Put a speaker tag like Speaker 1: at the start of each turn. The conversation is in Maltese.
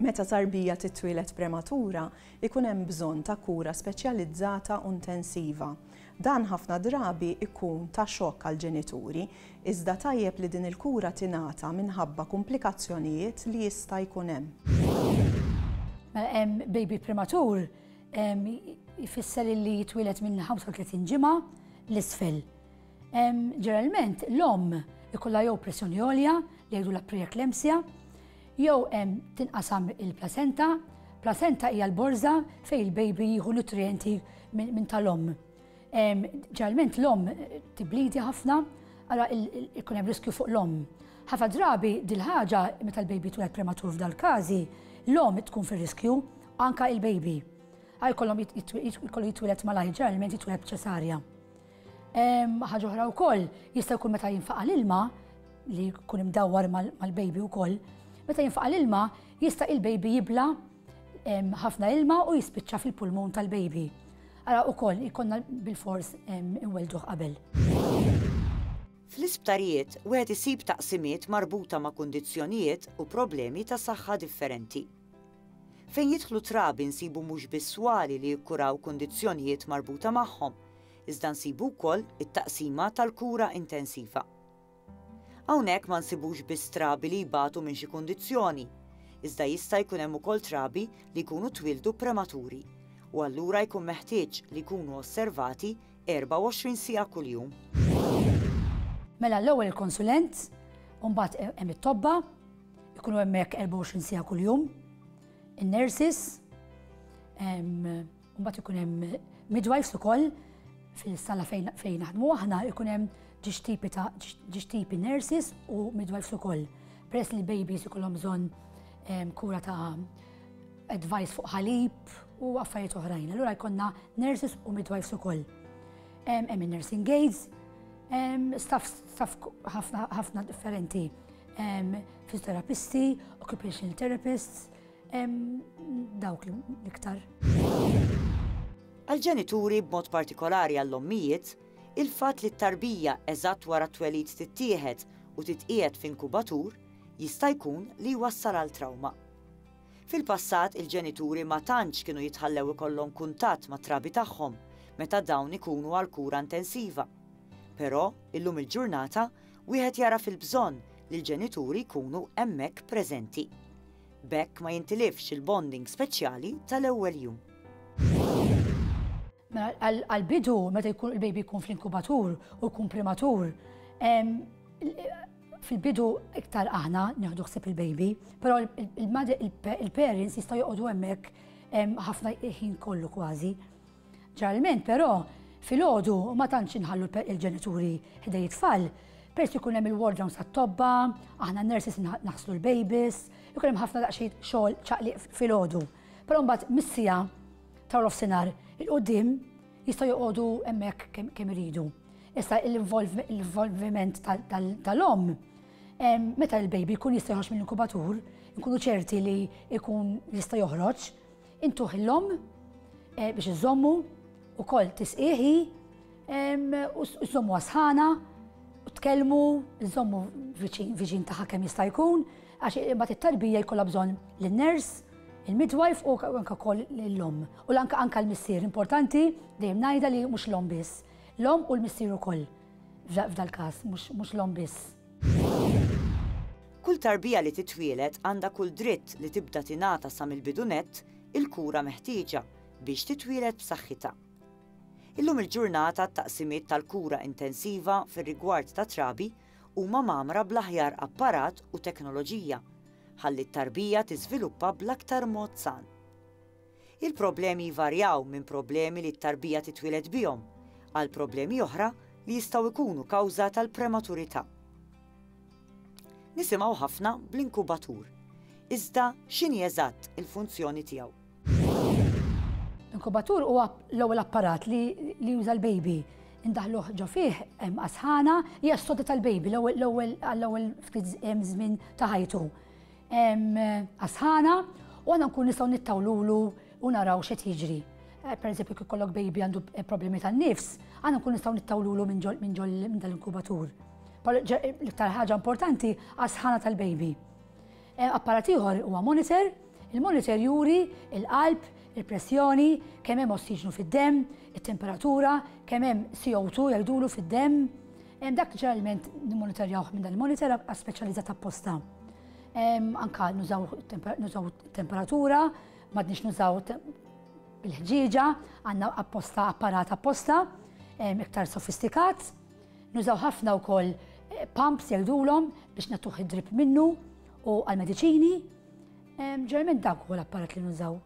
Speaker 1: Meta tarbija titwieled prematura, ikun hemm bżonn ta' kura speċjalizzata u ntensiva. Dan ħafna drabi ikun ta' xokk għall-ġenituri, iżda tajjeb li din il-kura tingħata minħabba kumplikazzjonijiet li jista' jkun hemm.
Speaker 2: Mela baby prematur jfisser li jitwieled minn 35 ġimgħa 'l isfel. Ġeneralment l-omm ikollha jew pressjoni għolja li jgħidulha preeclampsia, jew tinqasam il-placenta. Placenta hija l-borża fejn il-baby jieħu nutrijenti minn tal-omm. Ġeneralment l-omm tiblidi ħafna, allura ikun hemm riskju fuq l-omm. Ħafna drabi dil-ħaġa meta l-baby tweled prematur f'dal-każi, l-omm tkun fir-riskju, anka il-baby. Għal kollhom jkollu jitwieled malajr, ġeneralment jitwieled b'ċesarja. Ħaġa oħra wkoll jista' jkun meta jinfaqa' l-ilma li jkun imdawwar mal-baby wkoll, meta jinfaqa' l-ilma jista' il-baby jibla ħafna ilma u jispiċċa fil-pulmun tal-baby. Ara wkoll ikollna bilfors inwelduh qabel.
Speaker 3: Fl-isptarijiet wieħed isib taqsimiet marbuta ma' kundizzjonijiet u problemi ta' saħħa differenti. Fejn jidħlu trabi nsibu mhux biss swali li jikkuraw kundizzjonijiet marbuta magħhom, iżda nsibu wkoll it-taqsima tal-kura intensiva. Hawnhekk ma nsibux biss trabi li jbatu minn xi kundizzjoni, iżda jista' jkun hemm ukoll trabi li jkunu twieldu prematuri u allura jkun meħtieġ li jkunu osservati 24 siegħa kuljum.
Speaker 2: Mela l-ewwel il-konsulent, u mbagħad hemm it-tobba, ikunu hemmhekk 24 siegħa kuljum, in-nurses, mbagħad ikun hemm midwives ukoll fil-sala fejn fejn naħdmu aħna ikun hemm ġiex tipi ta' ġiex tipi nurses u midwives ukoll. Peress li babies ikollhom bżonn kura ta' advice fuq ħalib u affarijiet oħrajn. Allura jkollna nurses u midwives ukoll. Hemm in-nursing aides, staff staff ħafna ħafna differenti. Fisioterapisti, occupational therapists, Dawk l-iktar.
Speaker 3: Għall-ġenituri b'mod partikolari għall-ommijiet, il-fatt li t-tarbija eżatt wara t-twelid tittieħed u titqiegħed f'inkubatur jista' jkun li jwassal għal trawma. Fil-passat il-ġenituri ma tantx kienu jitħallew ikollhom kuntatt mat-trabi tagħhom meta dawn ikunu għal kura intensiva. Però, illum il-ġurnata, wieħed jagħraf il-bżonn li l-ġenituri jkunu hemmhekk preżenti. B'hekk ma jintilifx il-bonding speċjali tal-ewwel jum.
Speaker 2: Mela għall-bidu meta jkun il-baby jkun fl-inkubatur u jkun prematur, fil-bidu iktar aħna nieħdu ħsieb il-baby, però il-parents jistgħu joqogħdu hemmhekk ħafna ħin kollu kważi. Ġeneralment però, filgħodu ma tantx inħallu il-ġenituri ħdej it-tfal, peress li jkun hemm il-ward rounds tat-tobba, aħna n-nurses naħslu l-babies, ikun hemm ħafna daqsxejn xogħol ċaqliq filgħodu. Però mbagħad mis-siegħa ta' nofsinhar 'il quddiem jistgħu joqogħdu hemmhekk kemm iridu. Issa l-involviment tal-omm meta l-baby jkun jista' joħroġ mill-inkubatur, nkunu ċerti li jkun jista' joħroġ, Intuh l-omm eh, biex iżommu ukoll tisqiħi u żommu sħana u tkellmu, żommu viċin tagħha kemm jista' jkun, għax imbagħad it-tarbija jkollha bżonn lin-ners, il-midwife u anke wkoll l-omm. U l-anke anke l-missier importanti dejjem ngħidha li mhux l-omm biss. L-omm u l-missier ukoll f'dal-każ, mhux l-omm biss.
Speaker 3: Kull tarbija li titwieled għandha kull dritt li tibda tingħata sa mill-bidu nett il-kura meħtieġa biex titwieled b'saħħitha. Illum il-ġurnata t-taqsimiet tal-kura intensiva fir-rigward ta' trabi huma mgħammra bl-aħjar apparat u teknoloġija ħalli t-tarbija tiżviluppa bl-aktar mod san. Il-problemi jvarjaw minn problemi li t-tarbija titwieled bihom għal problemi oħra li jistgħu jkunu kawża tal-prematurità. Nisimgħu ħafna bl-inkubatur. Iżda x'inhi eżatt il-funzjoni tiegħu?
Speaker 2: Inkubatur huwa l-ewwel apparat li juża l-baby. Indaħluh ġo fih hemm sħana hija s-sodda tal-baby l-ewwel għall-ewwel ftit żmien ta' ħajtu. Għas-sħana u aħna nkun nistgħu nittawlulu u naraw x'qed jiġri. Eh, per eżempju, kif kollok baby għandu eh, problemi tan-nifs, aħna nkun nistgħu nittawlulu minn ġol minn ġol minn dal-inkubatur. L-iktar ħaġa importanti għas-sħana tal-baby. Eh, apparat ieħor huwa monitor Il-monitor juri il-qalb, il-pressjoni, kemm hemm ossiġnu fid-demm, it-temperatura, kemm hemm CO2 jgħidulu fid-demm. Dak ġeneralment nimmonitorjawh minn dan il-monitor speċjalizzat apposta. Anka nużaw temperatura, m'għadniex nużaw bil-ħġieġa, għandna apposta apparat apposta, iktar sofistikat. Nużaw ħafna wkoll pumps jgħidulhom biex nagħtuh id-drip minnu u għal-mediċini. Ġeneralment dak huwa l-apparat li nużaw.